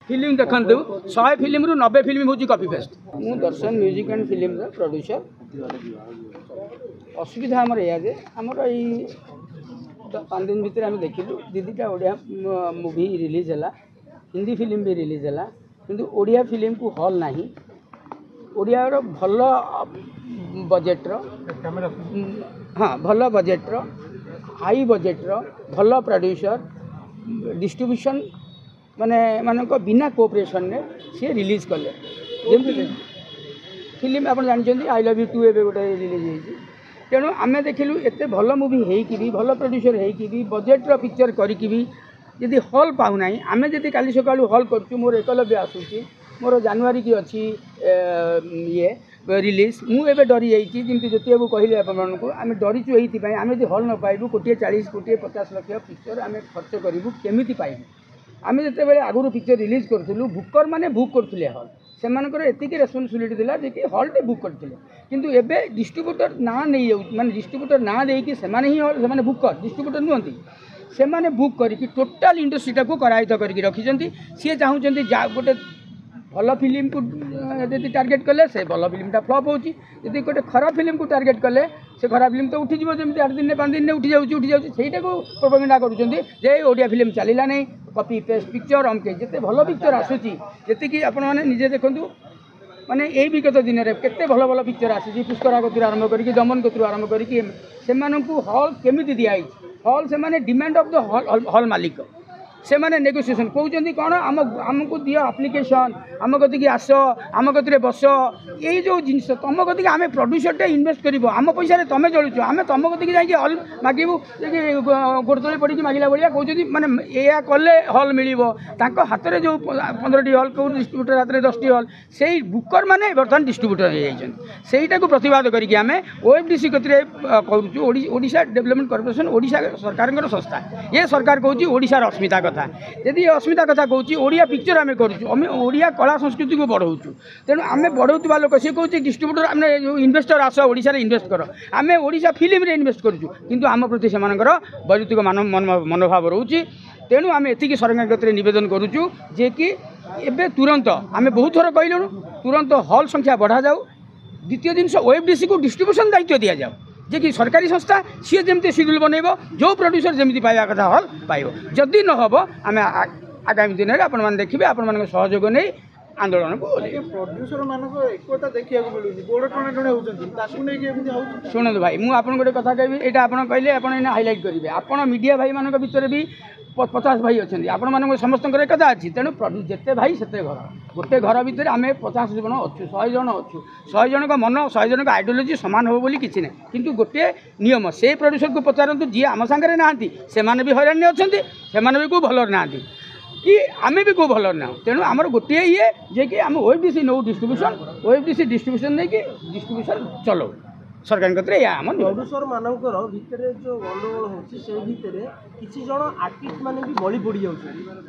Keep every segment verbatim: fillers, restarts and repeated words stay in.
Film ଦେଖନ୍ତୁ ଶହେ ଫିଲ୍ମରୁ ନବେ ଫିଲ୍ମ ହେଉଛି କପି ପେଷ୍ଟ ମୁଁ ଦର୍ଶନ ମ୍ୟୁଜିକ୍ ଆଣ୍ଡ ଫିଲ୍ମର ପ୍ରଡ୍ୟୁସର ଅସୁବିଧା ଆମର ଏଇଆ ଯେ ଆମର ଏଇ ପାଞ୍ଚ ଦିନ ଭିତରେ ଆମେ ଦେଖିଲୁ ଦୁଇ ଦୁଇଟା ଓଡ଼ିଆ ମୁଭି ରିଲିଜ୍ ହେଲା ହିନ୍ଦୀ ଫିଲ୍ମ ବି ରିଲିଜ୍ ହେଲା କିନ୍ତୁ ଓଡ଼ିଆ ଫିଲ୍ମକୁ ହଲ୍ ନାହିଁ ଓଡ଼ିଆର ଭଲ ବଜେଟ୍ର ହଁ ଭଲ ବଜେଟ୍ର ହାଇ ବଜେଟ୍ର ଭଲ ପ୍ରଡ୍ୟୁସର ଡିଷ୍ଟ୍ରିବ୍ୟୁସନ୍ ମାନେ ମାନଙ୍କ ବିନା କୋଅପରେସନ୍ରେ ସିଏ ରିଲିଜ୍ କଲେ ଯେମିତି ଫିଲ୍ମ ଆପଣ ଜାଣିଛନ୍ତି I love you two ଏବେ ଗୋଟେ ରିଲିଜ୍ ହେଇଛି ତେଣୁ ଆମେ ଦେଖିଲୁ ଏତେ ଭଲ ମୁଭି ହେଇକି ବି ଭଲ ପ୍ରଡ୍ୟୁସର ହେଇକି ବି ବଜେଟ୍ର ପିକ୍ଚର କରିକି ବି ଯଦି ହଲ୍ ପାଉନାହିଁ ଆମେ ଯଦି କାଲି ସକାଳୁ ହଲ୍ କରୁଛୁ ମୋର ଏକଲବ୍ୟ ଆସୁଛି ମୋର ଜାନୁଆରୀକି ଅଛି ଇଏ ରିଲିଜ୍ ମୁଁ ଏବେ ଡରି ଯାଇଛି ଯେମିତି ଜ୍ୟୋତି ବାବୁ କହିଲେ ଆପଣମାନଙ୍କୁ ଆମେ ଡରିଛୁ ଏଇଥିପାଇଁ ଆମେ ଯଦି ହଲ୍ ନ ପାଇବୁ କୋଟିଏ ଚାଳିଶ କୋଟିଏ ପଚାଶ ଲକ୍ଷ ପିକ୍ଚର ଆମେ ଖର୍ଚ୍ଚ କରିବୁ କେମିତି ପାଇବୁ ଆମେ ଯେତେବେଳେ ଆଗରୁ ପିକ୍ଚର ରିଲିଜ୍ କରୁଥିଲୁ ବୁକର୍ ମାନେ ବୁକ୍ କରୁଥିଲେ ହଲ୍ ସେମାନଙ୍କର ଏତିକି ରେସ୍ପନ୍ସିବିଲିଟି ଥିଲା ଯେ କି ହଲ୍ଟେ ବୁକ୍ କରିଥିଲେ କିନ୍ତୁ ଏବେ ଡିଷ୍ଟ୍ରିବ୍ୟୁଟର ନାଁ ନେଇଯାଉଛି ମାନେ ଡିଷ୍ଟ୍ରିବ୍ୟୁଟର ନାଁ ଦେଇକି ସେମାନେ ହିଁ ହଲ୍ ସେମାନେ ବୁକର୍ ଡିଷ୍ଟ୍ରିବ୍ୟୁଟର ନୁହନ୍ତି ସେମାନେ ବୁକ୍ କରିକି ଟୋଟାଲ୍ ଇଣ୍ଡଷ୍ଟ୍ରିଟାକୁ କରାୟତ୍ତ କରିକି ରଖିଛନ୍ତି ସିଏ ଚାହୁଁଛନ୍ତି ଯା ଗୋଟେ ଭଲ ଫିଲ୍ମକୁ ଯଦି ଟାର୍ଗେଟ୍ କଲେ ସେ ଭଲ ଫିଲ୍ମଟା ଫ୍ଲପ୍ ହେଉଛି ଯଦି ଗୋଟେ ଖରାପ ଫିଲ୍ମକୁ ଟାର୍ଗେଟ୍ କଲେ ସେ ଖରାପ ଫିଲ୍ମ ତ ଉଠିଯିବ ଯେମିତି ଆଠ ଦିନରେ ପାଞ୍ଚ ଦିନରେ ଉଠିଯାଉଛି ଉଠିଯାଉଛି ସେଇଟାକୁ ପ୍ରୋପାଗାଣ୍ଡା କରୁଛନ୍ତି ଯେ ଓଡ଼ିଆ ଫିଲ୍ମ ଚାଲିଲା ନାହିଁ କପି ପେଷ୍ଟ ପିକ୍ଚର ଅମକେ ଯେତେ ଭଲ ପିକ୍ଚର ଆସୁଛି ଯେତିକି ଆପଣମାନେ ନିଜେ ଦେଖନ୍ତୁ ମାନେ ଏଇ ବିଗତ ଦିନରେ କେତେ ଭଲ ଭଲ ପିକ୍ଚର ଆସିଛି ପୁଷ୍କରା କତିରୁ ଆରମ୍ଭ କରିକି ଦମନ କତିରୁ ଆରମ୍ଭ କରିକି ସେମାନଙ୍କୁ ହଲ୍ କେମିତି ଦିଆହେଇଛି ହଲ୍ ସେମାନେ demand of the hall hall ମାଲିକ ସେମାନେ ନେଗୋସିଏସନ୍ କହୁଛନ୍ତି କ'ଣ ଆମ ଆମକୁ ଦିଅ ଆପ୍ଲିକେସନ୍ ଆମ କତିକି ଆସ ଆମ କତିରେ ବସ ଏଇ ଯେଉଁ ଜିନିଷ ତୁମ କତିକି ଆମେ ପ୍ରଡ୍ୟୁସରଟା ଇନଭେଷ୍ଟ କରିବ ଆମ ପଇସାରେ ତୁମେ ଚଳୁଛ ଆମେ ତୁମ କତିକି ଯାଇକି ହଲ୍ ମାଗିବୁ ଯେ କି ଗୋଡ଼ ତଳେ ପଡ଼ିକି ମାଗିଲା ଭଳିଆ କହୁଛନ୍ତି ମାନେ ଏଇଆ କଲେ ହଲ୍ ମିଳିବ ତାଙ୍କ ହାତରେ ଯେଉଁ ପନ୍ଦରଟି ହଲ୍ କେଉଁ ଡିଷ୍ଟ୍ରିବ୍ୟୁଟର ହାତରେ ଦଶଟି ହଲ୍ ସେଇ ବୁକର୍ ମାନେ ବର୍ତ୍ତମାନ ଡିଷ୍ଟ୍ରିବ୍ୟୁଟର ହେଇଯାଇଛନ୍ତି ସେଇଟାକୁ ପ୍ରତିବାଦ କରିକି ଆମେ ଓ ଏଫ୍ ଡି ସି କତିରେ କରୁଛୁ ଓଡ଼ିଶା ଡେଭଲପମେଣ୍ଟ କର୍ପୋରେସନ୍ ଓଡ଼ିଶା ସରକାରଙ୍କର ସଂସ୍ଥା ଏ ସରକାର କହୁଛି ଓଡ଼ିଶାର ଅସ୍ମିତା କଥା ଯଦି ଏ ଅସ୍ମିତା କଥା କହୁଛି ଓଡ଼ିଆ ପିକ୍ଚର ଆମେ କରୁଛୁ ଆମେ ଓଡ଼ିଆ କଳା ସଂସ୍କୃତିକୁ ବଢ଼ାଉଛୁ ତେଣୁ ଆମେ ବଢ଼ାଉଥିବା ଲୋକ ସିଏ କହୁଛି ଡିଷ୍ଟ୍ରିବ୍ୟୁଟର ଆମେ ଯେଉଁ ଇନଭେଷ୍ଟର ଆସ ଓଡ଼ିଶାରେ ଇନଭେଷ୍ଟ କର ଆମେ ଓଡ଼ିଶା ଫିଲ୍ମରେ ଇନଭେଷ୍ଟ କରୁଛୁ କିନ୍ତୁ ଆମ ପ୍ରତି ସେମାନଙ୍କର ବୈରୁତିକ ମାନ ମନୋଭାବ ରହୁଛି ତେଣୁ ଆମେ ଏତିକି ସରକାରଙ୍କ କତିରେ ନିବେଦନ କରୁଛୁ ଯେ କି ଏବେ ତୁରନ୍ତ ଆମେ ବହୁତ ଥର କହିଲୁଣୁ ତୁରନ୍ତ ହଲ୍ ସଂଖ୍ୟା ବଢ଼ାଯାଉ ଦ୍ୱିତୀୟ ଜିନିଷ ଓ ଏଫ୍ ଡି ସିକୁ ଡିଷ୍ଟ୍ରିବ୍ୟୁସନ୍ ଦାୟିତ୍ୱ ଦିଆଯାଉ ଯେ କି ସରକାରୀ ସଂସ୍ଥା ସିଏ ଯେମିତି ସିଡ୍ୟୁଲ୍ ବନେଇବ ଯେଉଁ ପ୍ରଡ୍ୟୁସର ଯେମିତି ପାଇବା କଥା ହଲ୍ ପାଇବ ଯଦି ନ ହେବ ଆମେ ଆଗାମୀ ଦିନରେ ଆପଣମାନେ ଦେଖିବେ ଆପଣମାନଙ୍କ ସହଯୋଗ ନେଇ ଆନ୍ଦୋଳନକୁ ଓହ୍ଲେଇବୁ ପ୍ରଡ୍ୟୁସର ମାନଙ୍କ ଏକତା ଦେଖିବାକୁ ମିଳୁନି ଗୋଡ଼ ଟଣା ଟଣି ହେଉଛନ୍ତି ତାକୁ ନେଇକି ଏମିତି ହେଉଛି ଶୁଣନ୍ତୁ ଭାଇ ମୁଁ ଆପଣଙ୍କୁ ଗୋଟେ କଥା କହିବି ଏଇଟା ଆପଣ କହିଲେ ଆପଣ ଏଇନା ହାଇଲାଇଟ୍ କରିବେ ଆପଣ ମିଡ଼ିଆ ଭାଇମାନଙ୍କ ଭିତରେ ବି ପଚାଶ ଭାଇ ଅଛନ୍ତି ଆପଣମାନଙ୍କ ସମସ୍ତଙ୍କର ଏକତା ଅଛି ତେଣୁ ଯେତେ ଭାଇ ସେତେ ଘର ଗୋଟେ ଘର ଭିତରେ ଆମେ ପଚାଶ ଜଣ ଅଛୁ ଶହେ ଜଣ ଅଛୁ ଶହେ ଜଣଙ୍କ ମନ ଶହେ ଜଣଙ୍କ ଆଇଡ଼ିଓଲୋଜି ସମାନ ହେବ ବୋଲି କିଛି ନାହିଁ କିନ୍ତୁ ଗୋଟିଏ ନିୟମ ସେଇ ପ୍ରଡ୍ୟୁସରକୁ ପଚାରନ୍ତୁ ଯିଏ ଆମ ସାଙ୍ଗରେ ନାହାନ୍ତି ସେମାନେ ବି ହଇରାଣରେ ଅଛନ୍ତି ସେମାନେ ବି କେଉଁ ଭଲରେ ନାହାନ୍ତି କି ଆମେ ବି କେଉଁ ଭଲରେ ନାହୁଁ ତେଣୁ ଆମର ଗୋଟିଏ ଇଏ ଯେ କି ଆମେ ଓ ଏଫ୍ ଡି ସି ନେଉ ଡିଷ୍ଟ୍ରିବ୍ୟୁସନ୍ ଓ ଏଫ୍ ଡି ସି ଡିଷ୍ଟ୍ରିବ୍ୟୁସନ୍ ନେଇକି ଡିଷ୍ଟ୍ରିବ୍ୟୁସନ୍ ଚଲାଉ ସରକାରଙ୍କ କତିରେ ଏଇଆ ଆମ ନିବେଦନ ପ୍ରଡ୍ୟୁସର ମାନଙ୍କର ଭିତରେ ଯେଉଁ ଗଣ୍ଡଗୋଳ ହେଉଛି ସେଇ ଭିତରେ କିଛି ଜଣ ଆର୍ଟିଷ୍ଟ ମାନେ ବି ବଳି ପଡ଼ିଯାଉଛନ୍ତି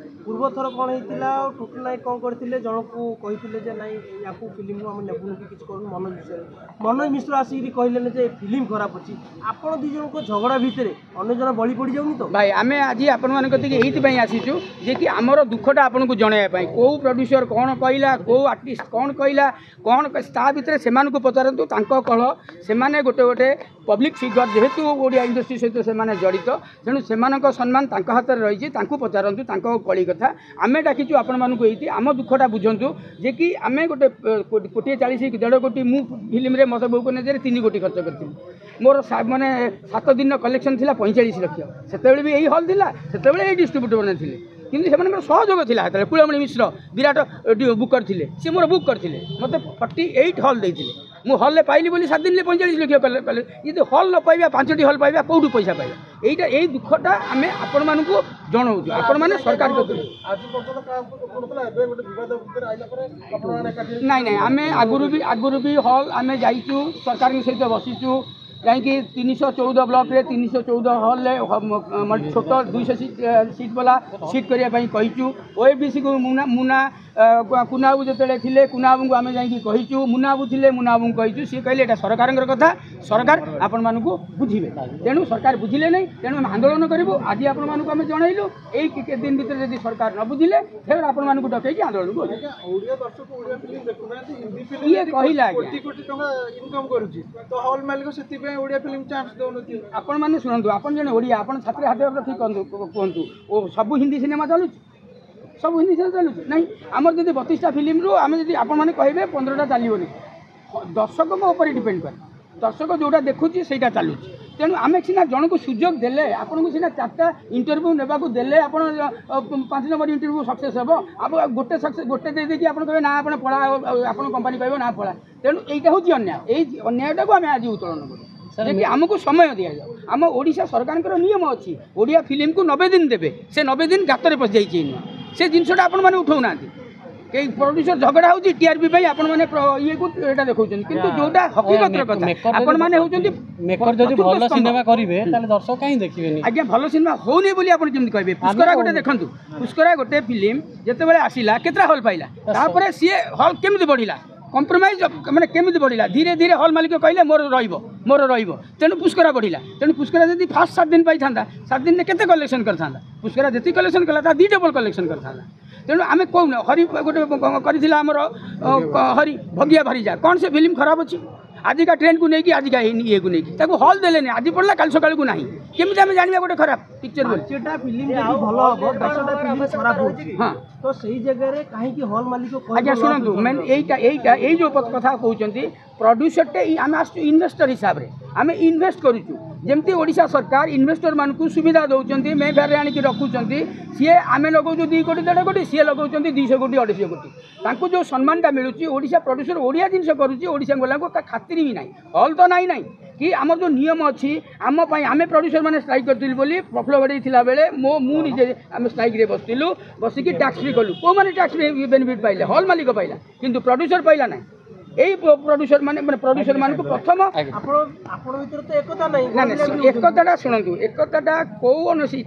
ପୂର୍ବ ଥର କ'ଣ ହେଇଥିଲା ଟୁଟୁ ନାୟକ କ'ଣ କରିଥିଲେ ଜଣକୁ କହିଥିଲେ ଯେ ନାଇଁ ୟାକୁ ଫିଲ୍ମକୁ ଆମେ ନେବୁନୁ କି କିଛି କରୁନୁ ମନୋଜ ମିଶ୍ର ମନୋଜ ମିଶ୍ର ଆସିକିରି କହିଲେନି ଯେ ଏ ଫିଲ୍ମ ଖରାପ ଅଛି ଆପଣ ଦୁଇ ଜଣଙ୍କ ଝଗଡ଼ା ଭିତରେ ଅନ୍ୟ ଜଣ ବଳି ପଡ଼ିଯାଉନି ତ ଭାଇ ଆମେ ଆଜି ଆପଣମାନଙ୍କ କତିକି ଏଇଥିପାଇଁ ଆସିଛୁ ଯେ କି ଆମର ଦୁଃଖଟା ଆପଣଙ୍କୁ ଜଣାଇବା ପାଇଁ କେଉଁ ପ୍ରଡ୍ୟୁସର କ'ଣ କହିଲା କେଉଁ ଆର୍ଟିଷ୍ଟ କ'ଣ କହିଲା କ'ଣ ତା ଭିତରେ ସେମାନଙ୍କୁ ପଚାରନ୍ତୁ ତାଙ୍କ କଳ ସେମାନେ ଗୋଟେ ଗୋଟେ ପବ୍ଲିକ୍ ଫିଗର ଯେହେତୁ ଓଡ଼ିଆ ଇଣ୍ଡଷ୍ଟ୍ରି ସହିତ ସେମାନେ ଜଡ଼ିତ ତେଣୁ ସେମାନଙ୍କ ସମ୍ମାନ ତାଙ୍କ ହାତରେ ରହିଛି ତାଙ୍କୁ ପଚାରନ୍ତୁ ତାଙ୍କ କଳି କଥା ଆମେ ଡାକିଛୁ ଆପଣମାନଙ୍କୁ ଏଇଠି ଆମ ଦୁଃଖଟା ବୁଝନ୍ତୁ ଯେ କି ଆମେ ଗୋଟେ କୋଟିଏ ଚାଳିଶ ଦେଢ଼ କୋଟି ମୁଁ ଫିଲ୍ମରେ ମତେ ବୋଉକୁ ନେଜରେ ତିନି କୋଟି ଖର୍ଚ୍ଚ କରିଥିଲି ମୋର ମାନେ ସାତ ଦିନର କଲେକ୍ସନ୍ ଥିଲା ପଇଁଚାଳିଶ ଲକ୍ଷ ସେତେବେଳେ ବି ଏଇ ହଲ୍ ଥିଲା ସେତେବେଳେ ଏଇ ଡିଷ୍ଟ୍ରିବ୍ୟୁଟର ମାନେ ଥିଲେ କିନ୍ତୁ ସେମାନଙ୍କର ସହଯୋଗ ଥିଲା ସେତେବେଳେ କୁଳମଣି ମିଶ୍ର ବିରାଟ ବୁକର୍ ଥିଲେ ସିଏ ମୋର ବୁକ୍ କରିଥିଲେ ମୋତେ ଫର୍ଟି ଏଇଟ୍ ହଲ୍ ଦେଇଥିଲେ ମୁଁ ହଲ୍ରେ ପାଇଲି ବୋଲି ସାତ ଦିନରେ ପଇଁଚାଳିଶ ଲକ୍ଷ କଲେ କଲେ ଯଦି ହଲ୍ ନ ପାଇବା ପାଞ୍ଚଟି ହଲ୍ ପାଇବା କେଉଁଠୁ ପଇସା ପାଇବା ଏଇଟା ଏଇ ଦୁଃଖଟା ଆମେ ଆପଣମାନଙ୍କୁ ଜଣାଉଛୁ ଆପଣମାନେ ସରକାର କତିରେ ଆଜି ପର୍ଯ୍ୟନ୍ତ କାହାକୁ କରୁଥିଲା ଏବେ ଗୋଟେ ବିବାଦ ଭିତରେ ଆଇଲା ପରେ ଆପଣମାନେ ଏକାଠି ନାଇଁ ନାଇଁ ଆମେ ଆଗରୁ ବି ଆଗରୁ ବି ହଲ୍ ଆମେ ଯାଇଛୁ ସରକାରଙ୍କ ସହିତ ବସିଛୁ ଯାଇକି ତିନିଶହ ଚଉଦ ବ୍ଲକରେ ତିନିଶହ ଚଉଦ ହଲ୍ରେ ଛୋଟ ଦୁଇଶହ ସିଟ୍ ସିଟ୍ ବାଲା ସିଟ୍ କରିବା ପାଇଁ କହିଛୁ ଓ ଏଫ୍ ଡି ସିକୁ ମୁନା ମୁନା କୁନାବାବୁ ଯେତେବେଳେ ଥିଲେ କୁନାବାବୁଙ୍କୁ ଆମେ ଯାଇକି କହିଛୁ ମୁନାବାବୁ ଥିଲେ ମୁନାବାବୁଙ୍କୁ କହିଛୁ ସିଏ କହିଲେ ଏଇଟା ସରକାରଙ୍କର କଥା ସରକାର ଆପଣମାନଙ୍କୁ ବୁଝିବେ ତେଣୁ ସରକାର ବୁଝିଲେ ନାହିଁ ତେଣୁ ଆମେ ଆନ୍ଦୋଳନ କରିବୁ ଆଜି ଆପଣମାନଙ୍କୁ ଆମେ ଜଣାଇଲୁ ଏଇ କେତେ ଦିନ ଭିତରେ ଯଦି ସରକାର ନ ବୁଝିଲେ ଫେର ଆପଣମାନଙ୍କୁ ଡକେଇକି ଆନ୍ଦୋଳନକୁ ଓହ୍ଲେଇବୁ। ଆଜ୍ଞା ଓଡ଼ିଆ ଦର୍ଶକ ଓଡ଼ିଆ ଫିଲ୍ମ ଦେଖୁନାହାନ୍ତି ହିନ୍ଦୀ ଫିଲ୍ମ କିଏ କହିଲା ଆଜ୍ଞା? କୋଟି କୋଟି ଟଙ୍କା ଇନକମ୍ କରୁଛି ତ ହଲ୍ ମାଲିକ ସେଥିପାଇଁ ଓଡ଼ିଆ ଫିଲ୍ମ ଚାନ୍ସ ଦଉନଥିବେ ଆପଣମାନେ ଶୁଣନ୍ତୁ ଆପଣ ଜଣେ ଓଡ଼ିଆ ଆପଣ ଛାତିରେ ହାତ ରଖି କୁହନ୍ତୁ କୁହନ୍ତୁ ଓ ସବୁ ହିନ୍ଦୀ ସିନେମା ଚାଲୁଛି ସବୁ ହିନ୍ଦୀ ସିନେମା ଚାଲୁଛି ନାଇଁ ଆମର ଯଦି ବତିଶଟା ଫିଲ୍ମରୁ ଆମେ ଯଦି ଆପଣମାନେ କହିବେ ପନ୍ଦରଟା ଚାଲିବନି ଦର୍ଶକଙ୍କ ଉପରେ ଡିପେଣ୍ଡ କରେ ଦର୍ଶକ ଯେଉଁଟା ଦେଖୁଛି ସେଇଟା ଚାଲୁଛି ତେଣୁ ଆମେ ସିନା ଜଣକୁ ସୁଯୋଗ ଦେଲେ ଆପଣଙ୍କୁ ସିନା ଚାରିଟା ଇଣ୍ଟରଭ୍ୟୁ ନେବାକୁ ଦେଲେ ଆପଣ ଅ, ପାଞ୍ଚ ନମ୍ବର ଇଣ୍ଟରଭ୍ୟୁ ସକ୍ସେସ୍ ହେବ ଆଉ ଗୋଟେ ସକ୍ସେସ୍ ଗୋଟେ ଦେଇ ଦେଇକି ଆପଣ କହିବେ ନା ଆପଣ ପଳା ଆପଣ କମ୍ପାନୀ କହିବ ନା ପଳା ତେଣୁ ଏଇଟା ହେଉଛି ଅନ୍ୟାୟ ଏଇ ଅନ୍ୟାୟଟାକୁ ଆମେ ଆଜି ଉତ୍ତୋଳନ କରୁ ଯେ କି ଆମକୁ ସମୟ ଦିଆଯାଉ ଆମ ଓଡ଼ିଶା ସରକାରଙ୍କର ନିୟମ ଅଛି ଓଡ଼ିଆ ଫିଲ୍ମକୁ ନବେ ଦିନ ଦେବେ ସେ ନବେ ଦିନ ଗାତରେ ପଶିଯାଇଛି ଏଇନୁଆ ସେ ଜିନିଷଟା ଆପଣମାନେ ଉଠାଉନାହାନ୍ତି କେହି ପ୍ରଡ୍ୟୁସର ଝଗଡ଼ା ହେଉଛି ଟିଆରପି ପାଇଁ ଆପଣମାନେ ପ୍ର- ଇଏକୁ ଏଇଟା ଦେଖାଉଛନ୍ତି କିନ୍ତୁ ଯୋଉଟା ହକିକତର କଥା ମେକର ଯଦି ଆପଣମାନେ ହେଉଛନ୍ତି ମେକର ଯଦି ଚତୁର୍ଥ ଭଲ ସ୍ତମ୍ଭ। ସିନେମା କରିବେ ତାହେଲେ ଦର୍ଶକ କାହିଁ ଦେଖିବେନି ଆଜ୍ଞା ଭଲ ସିନେମା ହଉନି ବୋଲି ଆପଣ କେମିତି କହିବେ ପୁଷ୍କରା ଗୋଟେ ଦେଖନ୍ତୁ ପୁଷ୍କରା ଗୋଟେ ଫିଲ୍ମ ଯେତେବେଳେ ଆସିଲା କେତେଟା ହଲ୍ ପାଇଲା ତାପରେ ସିଏ ହଲ୍ କେମିତି ବଢ଼ିଲା କମ୍ପ୍ରମାଇଜ୍ ମାନେ କେମିତି ବଢ଼ିଲା ଧୀରେ ଧୀରେ ହଲ୍ ମାଲିକ କହିଲେ ମୋର ରହିବ ମୋର ରହିବ ତେଣୁ ପୁଷ୍କରା ବଢ଼ିଲା ତେଣୁ ପୁଷ୍କରା ଯଦି ଫାର୍ଷ୍ଟ ସାତ ଦିନ ପାଇଥାନ୍ତା ସାତ ଦିନରେ କେତେ କଲେକ୍ସନ୍ କରିଥାନ୍ତା ପୁଷ୍କରା ଯେତିକି କଲେକ୍ସନ୍ କଲା ତା ଦୁଇ ଡବଲ୍ କଲେକ୍ସନ୍ କରିଥାନ୍ତା ତେଣୁ ଆମେ କହୁନ ହରି ଗୋଟେ କରିଥିଲା ଆମର ଅ, ହରି ଭଗିଆ ଭାରିଜା କ'ଣ ସେ ଫିଲ୍ମ ଖରାପ ଅଛି ଆଜିକା ଟ୍ରେଣ୍ଡକୁ ନେଇକି ଆଜିକା ଏଇ ଇଏକୁ ନେଇକି ତାକୁ ହଲ୍ ଦେଲେନି ଆଜି ପଡ଼ିଲା କାଲି ସକାଳକୁ ନାହିଁ କେମିତି ଆମେ ଜାଣିବା ଗୋଟେ ଖରାପ ପିକ୍ଚର ବୋଲି ପାଞ୍ଚଟା ଫିଲ୍ମ ଯଦି ଭଲ ହବ ଦଶଟା ଫିଲ୍ମ ଖରାପ ହଉଛି ହଁ ତ ସେଇ ଜାଗାରେ କାହିଁକି ହଲ୍ ମାଲିକ କହିବ ଆଜ୍ଞା ଶୁଣନ୍ତୁ ମେନ୍ ଏଇଟା ଏଇଟା ଏଇ ଯେଉଁ କଥା କହୁଛନ୍ତି ପ୍ରଡ୍ୟୁସରଟେ ଆମେ ଆସୁଛୁ ଇନଭେଷ୍ଟର ହିସାବରେ ଆମେ ଇନଭେଷ୍ଟ କରୁଛୁ ଯେମିତି ଓଡ଼ିଶା ସରକାର ଇନଭେଷ୍ଟରମାନଙ୍କୁ ସୁବିଧା ଦେଉଛନ୍ତି ମେଫେୟାରରେ ଆଣିକି ରଖୁଛନ୍ତି ସିଏ ଆମେ ଲଗାଉଛୁ ଦୁଇ କୋଟି ଦେଢ଼ କୋଟି ସିଏ ଲଗାଉଛନ୍ତି ଦୁଇଶହ କୋଟି ଅଢ଼େଇଶହ କୋଟି ତାଙ୍କୁ ଯେଉଁ ସମ୍ମାନଟା ମିଳୁଛି ଓଡ଼ିଶା ପ୍ରଡ୍ୟୁସର ଓଡ଼ିଆ ଜିନିଷ କରୁଛି ଓଡ଼ିଶା ବାଲାଙ୍କୁ ଖାତିରି ବି ନାହିଁ ହଲ୍ ତ ନାହିଁ ନାହିଁ କି ଆମର ଯେଉଁ ନିୟମ ଅଛି ଆମ ପାଇଁ ଆମେ ପ୍ରଡ୍ୟୁସର ମାନେ ଷ୍ଟ୍ରାଇକ୍ କରିଥିଲୁ ବୋଲି ପ୍ରଫୁଲ୍ଲ ଘଡ଼େଇ ଥିଲାବେଳେ ମୋ ମୁଁ ନିଜେ ଆମେ ଷ୍ଟ୍ରାଇକ୍ରେ ବସିଥିଲୁ ବସିକି ଟ୍ୟାକ୍ସ ଫ୍ରି କଲୁ କେଉଁମାନେ ଟ୍ୟାକ୍ସ ଫ୍ରି ବେନିଫିଟ୍ ପାଇଲେ ହଲ୍ ମାଲିକ ପାଇଲା କିନ୍ତୁ ପ୍ରଡ୍ୟୁସର ପାଇଲା ନାହିଁ ଏଇ ପ୍ରଡ୍ୟୁସର ମାନେ ମାନେ ପ୍ରଡ୍ୟୁସର ମାନଙ୍କୁ ପ୍ରଥମ ଆପଣ ଆପଣ ଭିତରେ ତ ଏକତା ନାହିଁ ନା ନା ଏକତାଟା ଶୁଣନ୍ତୁ ଏକତାଟା କୌଣସି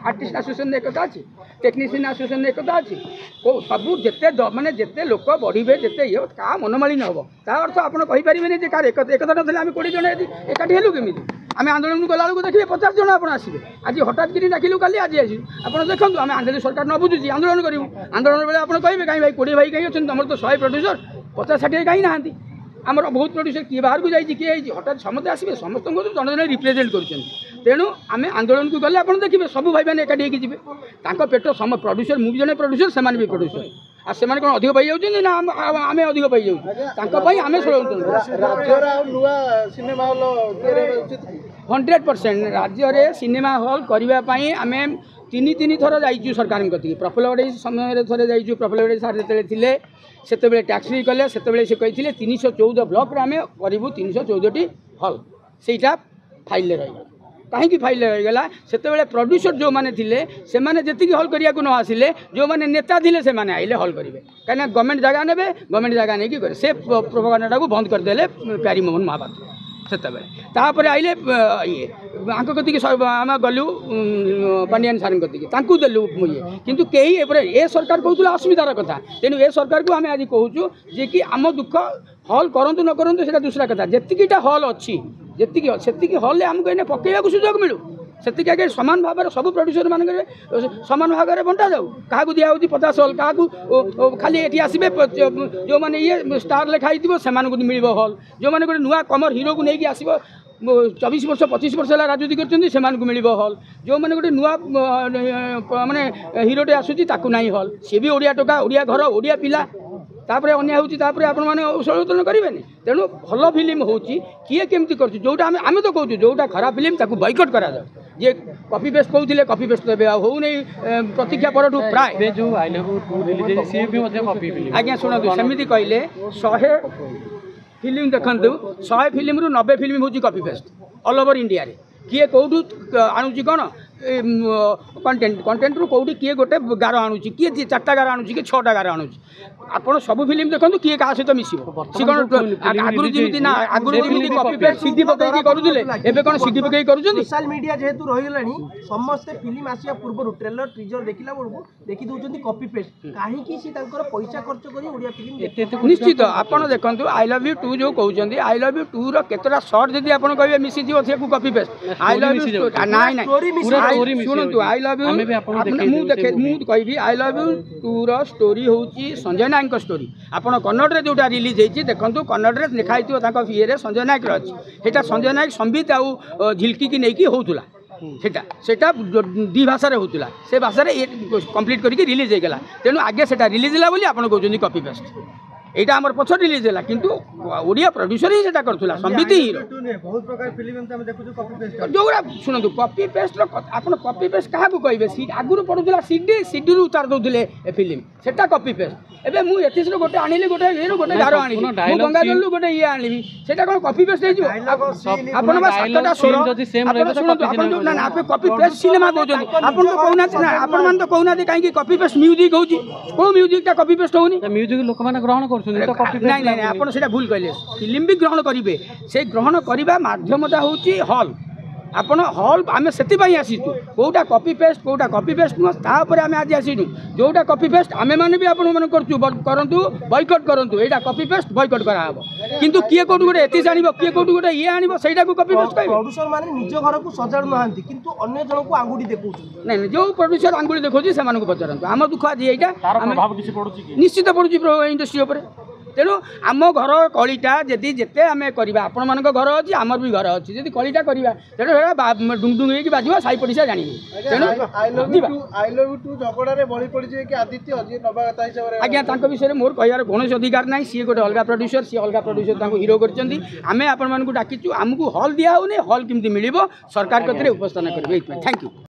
ଆର୍ଟିଷ୍ଟ ଆସୋସିଏସନରେ ଏକତା ଅଛି ଟେକ୍ନିସିଆନ୍ ଆସୋସିଏସନରେ ଏକତା ଅଛି କେଉଁ ସବୁ ଯେତେ ଦ- ମାନେ ଯେତେ ଲୋକ ବଢ଼ିବେ ଯେତେ ଇଏ କାହା ମନମାଳିନ୍ୟ ହେବ ତା ଅର୍ଥ ଆପଣ କହିପାରିବେନି ଯେ କାହାର ଏକତା ଏକତା ନଥିଲେ ଆମେ କୋଡ଼ିଏ ଜଣ ଯଦି ଏକାଠି ହେଲୁ କେମିତି ଆମେ ଆନ୍ଦୋଳନକୁ ଗଲାବେଳକୁ ଦେଖିବେ ପଚାଶ ଜଣ ଆପଣ ଆସିବେ ଆଜି ହଠାତ୍ କିରି ଡାକିଲୁ କାଲି ଆଜି ଆସିବୁ ଆପଣ ଦେଖନ୍ତୁ ଆମେ ଆନ୍ଦୋଳନ ସରକାର ନ ବୁଝୁଛି ଆନ୍ଦୋଳନ କରିବୁ ଆନ୍ଦୋଳନ ବେଳେ ଆପଣ କହିବେ କାହିଁ ଭାଇ କୋଡ଼ିଏ ଭାଇ କାହିଁ ଅଛନ୍ତି ତମର ତ ଶହେ ପ୍ରଡ୍ୟୁସର ପଚାଶ ଷାଠିଏ କାହିଁ ନାହାନ୍ତି ଆମର ବହୁତ ପ୍ରଡ୍ୟୁସର କିଏ ବାହାରକୁ ଯାଇଛି କିଏ ହେଇଛି ହଠାତ୍ ସମସ୍ତେ ଆସିବେ ସମସ୍ତଙ୍କୁ ଜଣେ ଜଣେ ରିପ୍ରେଜେଣ୍ଟ କରୁଛନ୍ତି ତେଣୁ ଆମେ ଆନ୍ଦୋଳନକୁ ଗଲେ ଆପଣ ଦେଖିବେ ସବୁ ଭାଇମାନେ ଏକାଠି ହେଇକି ଯିବେ ତାଙ୍କ ପେଟ ସମ ପ୍ରଡ୍ୟୁସର ମୁଁ ବି ଜଣେ ପ୍ରଡ୍ୟୁସର ସେମାନେ ବି ପ୍ରଡ୍ୟୁସର ଆଉ ସେମାନେ କ'ଣ ଅଧିକ ପାଇଯାଉଛନ୍ତି ନା ଆମ- ଆଉ ଆମେ ଅଧିକ ପାଇଯାଉଛୁ ତାଙ୍କ ପାଇଁ ଆମେ ଷଡ଼ଯନ୍ତ୍ର ରାଜ୍ୟରେ ଆଉ ନୂଆ ସିନେମା ହଲ୍ ତିଆରି ହେବା ଉଚିତ କି ହଣ୍ଡ୍ରେଡ଼ ପରସେଣ୍ଟ ରାଜ୍ୟରେ ସିନେମା ହଲ୍ କରିବା ପାଇଁ ଆମେ ତିନି ତିନି ଥର ଯାଇଛୁ ସରକାରଙ୍କ କତିକି ପ୍ରଫୁଲ୍ଲ ଘଡ଼େଇ ସମୟରେ ଥରେ ଯାଇଛୁ ପ୍ରଫୁଲ୍ଲ ଘଡ଼େଇ ସାର୍ ଯେତେବେଳେ ଥିଲେ ସେତେବେଳେ ଟ୍ୟାକ୍ସ ଫ୍ରି କଲେ ସେତେବେଳେ ସେ କହିଥିଲେ ତିନିଶହ ଚଉଦ ବ୍ଲକରେ ଆମେ କରିବୁ ତିନିଶହ ଚଉଦଟି ହଲ୍ ସେଇଟା ଫାଇଲ୍ରେ ରହିଗଲା କାହିଁକି ଫାଇଲ୍ରେ ରହିଗଲା ସେତେବେଳେ ପ୍ରଡ୍ୟୁସର ଯେଉଁମାନେ ଥିଲେ ସେମାନେ ଯେତିକି ହଲ୍ କରିବାକୁ ନ ଆସିଲେ ଯେଉଁମାନେ ନେତା ଥିଲେ ସେମାନେ ଆଇଲେ ହଲ୍ କରିବେ କାହିଁକିନା ଗଭର୍ଣ୍ଣମେଣ୍ଟ ଜାଗା ନେବେ ଗଭର୍ଣ୍ଣମେଣ୍ଟ ଜାଗା ନେଇକି କରିବେ ସେ ପ୍ରୋପାଗାଣ୍ଡାଟାକୁ ବନ୍ଦ କରିଦେଲେ ପ୍ୟାରୀମୋହନ ମହାପାତ୍ର ସେତେବେଳେ ତାପରେ ଆଇଲେ ଅ, ଇଏ ଆଙ୍କ କତିକି ସ- ଆମେ ଗଲୁ ଉଁ, ପାଣ୍ଡିଆନ ସାର୍ଙ୍କ କତିକି ତାଙ୍କୁ ଦେଲୁ ଇଏ କିନ୍ତୁ କେହି ଏପଟେ ଏ ସରକାର କହୁଥିଲେ ଅସୁବିଧାର କଥା ତେଣୁ ଏ ସରକାରକୁ ଆମେ ଆଜି କହୁଛୁ ଯେ କି ଆମ ଦୁଃଖ ହଲ୍ କରନ୍ତୁ ନ କରନ୍ତୁ ସେଇଟା ଦୁସରା କଥା ଯେତିକିଟା ହଲ୍ ଅଛି ଯେତିକି ଅଛି ସେତିକି ହଲ୍ରେ ଆମକୁ ଏଇନେ ପକେଇବାକୁ ସୁଯୋଗ ମିଳୁ ସେତିକି ଆଗେ ସମାନ ଭାବରେ ସବୁ ପ୍ରଡ୍ୟୁସର ମାନଙ୍କରେ ସମାନ ଭାଗରେ ବଣ୍ଟା ଯାଉ କାହାକୁ ଦିଆହେଉଛି ପଚାଶ ହଲ୍ କାହାକୁ ଓ, ଓ, ଖାଲି ଏଠି ଆସିବେ ପ- ଯେଉଁମାନେ ଇଏ ଷ୍ଟାର ଲେଖା ହେଇଥିବ ସେମାନଙ୍କୁ ମିଳିବ ହଲ୍ ଯେଉଁମାନେ ଗୋଟେ ନୂଆ କମର ହିରୋକୁ ନେଇକି ଆସିବ ଚବିଶ ବର୍ଷ ପଚିଶ ବର୍ଷ ହେଲା ରାଜନୀତି କରୁଛନ୍ତି ସେମାନଙ୍କୁ ମିଳିବ ହଲ୍ ଯେଉଁମାନେ ଗୋଟେ ନୂଆ ଅ, ମାନେ ହିରୋଟେ ଆସୁଛି ତାକୁ ନାହିଁ ହଲ୍ ସିଏ ବି ଓଡ଼ିଆ ଟୋକା ଓଡ଼ିଆ ଘର ଓଡ଼ିଆ ପିଲା ତାପରେ ଅନ୍ୟାୟ ହେଉଛି ତାପରେ ଆପଣମାନେ ଷଡ଼ଯନ୍ତ୍ର କରିବେନି ତେଣୁ ଭଲ ଫିଲ୍ମ ହେଉଛି କିଏ କେମିତି କରୁଛି ଯେଉଁଟା ଆମେ ଆମେ ତ କହୁଛୁ ଯେଉଁଟା ଖରାପ ଫିଲ୍ମ ତାକୁ ବୟକଟ୍ କରାଯାଉ ଯିଏ କପି ପେଷ୍ଟ କହୁଥିଲେ କପି ପେଷ୍ଟ ଏବେ ଆଉ ହେଉନି ଏ, ପ୍ରତୀକ୍ଷା ପରଠୁ ପ୍ରାୟ ଏବେ ଯୋଉ I love two release ହେଇଛି ସିଏ ବି ମଧ୍ୟ କପି ଫିଲ୍ମ ଆଜ୍ଞା ଶୁଣନ୍ତୁ ସେମିତି କହିଲେ ଶହେ ଫିଲ୍ମ ଦେଖନ୍ତୁ ଶହେ ଫିଲ୍ମରୁ ନବେ ଫିଲ୍ମ ହେଉଛି କପି ପେଷ୍ଟ ଅଲ୍ ଓଭର ଇଣ୍ଡିଆରେ କିଏ କେଉଁଠୁ ଆଣୁଛି କ'ଣ କଣ୍ଟେଣ୍ଟ କଣ୍ଟେଣ୍ଟରୁ କେଉଁଠି କିଏ ଗୋଟେ ଗାର ଆଣୁଛି କିଏ ଦି- ଚାରିଟା ଗାର ଆଣୁଛି କିଏ ଛଅଟା ଗାର ଆଣୁଛି ଆପଣ ସବୁ ଫିଲ୍ମ ଦେଖନ୍ତୁ କିଏ କାହା ସହିତ ମିଶିବ ସେ କ'ଣ ଆଗରୁ ଯେମିତି ନା ଆଗରୁ ଯେମିତି କପି ପେଷ୍ଟ ସିଡି ପକେଇକି କରୁଥିଲେ ଏବେ କ'ଣ ସିଡି ପକେଇକି କରୁଛନ୍ତି ସୋସିଆଲ ମିଡିଆ ଯେହେତୁ ରହିଗଲାଣି ସମସ୍ତେ ଫିଲ୍ମ ଆସିବା ପୂର୍ବରୁ ଟ୍ରେଲର ଟିଜର ଦେଖିଲା ବେଳକୁ ଦେଖି ଦଉଛନ୍ତି କପି ପେଷ୍ଟ କାହିଁକି ସେ ତାଙ୍କର ପଇସା ଖର୍ଚ୍ଚ କରି ଓଡ଼ିଆ ଫିଲ୍ମ ଏତେ ଏତେ ନିଶ୍ଚିତ ଆପଣ ଦେଖନ୍ତୁ I love you two ଯେଉଁ କହୁଛନ୍ତି I love you tour କେତେଟା ସର୍ଟ ଯଦି ଆପଣ କହିବେ ମିଶିଯିବ ସେକୁ copy paste I love you ନାଇଁ ନାଇଁ Story ମିଶି ପୁରା I- story ମିଶି ଶୁଣନ୍ତୁ ଯାଉଛି। I love you ଆମେ ବି ଆପଣଙ୍କୁ ଦେଖେଇ ମୁଁ ଦେବୁ ଦେଖେ ସେ ମୁଁ movie। କହିବି I love you tour story ହେଉଛି ସଞ୍ଜୟ ନାୟକଙ୍କ ଷ୍ଟୋରି ଆପଣ କନ୍ନଡ଼ରେ ଯେଉଁଟା ରିଲିଜ୍ ହେଇଛି ଦେଖନ୍ତୁ କନ୍ନଡ଼ରେ ଲେଖା ହେଇଥିବ ତାଙ୍କ ଇଏରେ ସଞ୍ଜୟ ନାୟକର ଅଛି ସେଇଟା ସଞ୍ଜୟ ନାୟକ ସମ୍ବିତ ଆଉ ଅ, ଝିଲକିକି ନେଇକି ହେଉଥିଲା ସେଟା ସେଟା ଦୁଇ ଭାଷାରେ ହେଉଥିଲା ସେ ଭାଷାରେ ଇଏ କମ୍ପ୍ଲିଟ୍ କରିକି ରିଲିଜ୍ ହେଇଗଲା ତେଣୁ ଆଗେ ସେଟା ରିଲିଜ୍ ହେଲା ବୋଲି ଆପଣ କହୁଛନ୍ତି କପି ପେଷ୍ଟ ଏଇଟା ଆମର ପଛ ରିଲିଜ୍ ହେଲା କିନ୍ତୁ ଓଡ଼ିଆ ପ୍ରଡ୍ୟୁସର ହିଁ ସେଟା କରୁଥିଲା ସମ୍ବିତ ହିଁ ହିରୋ ବହୁତ ପ୍ରକାର ଫିଲ୍ମ ଏମିତି ଆମେ ଦେଖୁଛୁ କପି ପେଷ୍ଟ ଯେଉଁଗୁଡ଼ା ଶୁଣନ୍ତୁ କପି ପେଷ୍ଟର ଆପଣ କପି ପେଷ୍ଟ କାହାକୁ କହିବେ ସି ଆଗରୁ ପଡ଼ୁଥିଲା ସିଡି ସିଡିରୁ ଉତାର ଦେଉଥିଲେ ଏ ଫିଲ୍ମ ସେଟା କପି ପେଷ୍ଟ ଏବେ ମୁଁ ଏଥିରୁ ଗୋଟେ ଆଣିଲି ଗୋଟେ ଇଏରୁ ଗୋଟେ ଗାର ଆଣିଲି ମୁଁ dialogue ଗଙ୍ଗାଜଳରୁ ଗୋଟେ ଇଏ ଆଣିବି ସେଇଟା କ'ଣ କପି ପେଷ୍ଟ ହେଇଯିବ ଆପଣ ବା ସାତଟା ସ୍ୱର scene ଯଦି same ଆପଣ ରହିବ ତ ଶୁଣନ୍ତୁ copy ଆପଣ ଯୋଉ ସିନେମା ନା ନା ଆପଣ କପି ପେଷ୍ଟ ସିନେମା କହୁଛନ୍ତି ଆପଣ ତ କହୁନାହାନ୍ତି ନା ଆପଣମାନେ ତ କହୁନାହାନ୍ତି କାହିଁକି କପି ପେଷ୍ଟ ମ୍ୟୁଜିକ୍ ହେଉଛି କେଉଁ ମ୍ୟୁଜିକ୍ଟା କପି ପେଷ୍ଟ ହେଉନି ମ୍ୟୁଜିକ୍ ଲୋକମାନେ ଗ୍ରହଣ କରୁଛନ୍ତି ତ କପି ନାଇଁ ନାଇଁ ନାଇଁ ଆପଣ ସେଇଟା ଭୁଲ କହିଲେ ଫିଲ୍ମ ବି ଗ୍ରହଣ କରିବେ ସେ ଗ୍ରହଣ କରିବା ମାଧ୍ୟମଟା ହେଉଛି ହଲ୍ ଆପଣ ହଲ୍ ଆମେ ସେଥିପାଇଁ ଆସିଛୁ କେଉଁଟା କପି ପେଷ୍ଟ କେଉଁଟା କପି ପେଷ୍ଟ ନୁହଁ ତା ଉପରେ ଆମେ ଆଜି ଆସିନୁ ଯେଉଁଟା କପି ପେଷ୍ଟ ଆମେମାନେ ବି ଆପଣମାନେ କରୁଛୁ ବ- କରନ୍ତୁ ବୟକଟ୍ କରନ୍ତୁ ଏଇଟା କପି ପେଷ୍ଟ ବୟକଟ୍ କରାହେବ କିନ୍ତୁ କିଏ କେଉଁଠୁ ଗୋଟେ ଏତିକି ଆଣିବ କିଏ କେଉଁଠୁ ଗୋଟେ ଇଏ ଆଣିବ ସେଇଟାକୁ କପି ପେଷ୍ଟ କହିବେ ପ୍ରଡ୍ୟୁସର ମାନେ ନିଜ ଘରକୁ ସଜାଡୁ ନାହାନ୍ତି କିନ୍ତୁ ଅନ୍ୟ ଜଣକୁ ଆଙ୍ଗୁଠି ଦେଖାଉଛନ୍ତି ନାଇଁ ନାଇଁ ଯେଉଁ ପ୍ରଡ୍ୟୁସର ଆଙ୍ଗୁଳି ଦେଖାଉଛି ସେମାନଙ୍କୁ ପଚାରନ୍ତୁ ଆମ ଦୁଃଖ ଆଜି ଏଇଟା ତାର ଆମେ ପ୍ରଭାବ କିଛି ପଡୁଛି କି ନିଶ୍ଚିତ ପଡ଼ୁଛି ଇଣ୍ଡଷ୍ଟ୍ରି ଉପରେ ତେଣୁ ଆମ ଘର କଳିଟା ଯଦି ଯେତେ ଆମେ କରିବା ଆପଣମାନଙ୍କ ଘର ଅଛି ଆମର ବି ଘର ଅଛି ଯଦି କଳିଟା କରିବା ତେଣୁ ସେଇଟା ଡୁଙ୍ଗ ଡୁଙ୍ଗ ହେଇକି ବାଜିବ ସାହି ପଡ଼ିଶା ଜାଣିବେ ତେଣୁ I love ଯିବା you two I love you two ଝଗଡ଼ାରେ ବଳି ପଡ଼ିଯିବେ କି ଆଦିତ୍ୟ ଯିଏ ନବାଗତ ହିସାବରେ ଆଜ୍ଞା ତାଙ୍କ ବିଷୟରେ ମୋର କହିବାର କୌଣସି ଅଧିକାର ନାହିଁ ସିଏ ଗୋଟେ ଅଲଗା ପ୍ରଡ୍ୟୁସର ସିଏ ଅଲଗା ପ୍ରଡ୍ୟୁସର ତାଙ୍କୁ ହିରୋ କରିଛନ୍ତି ଆମେ ଆପଣମାନଙ୍କୁ ଡାକିଛୁ ଆମକୁ ହଲ୍ ଦିଆ ହେଉନି ହଲ୍ କେମିତି ମିଳିବ ସରକାର କତିରେ ଉପସ୍ଥାନ କରିବେ ଏଇଥିପାଇଁ thank you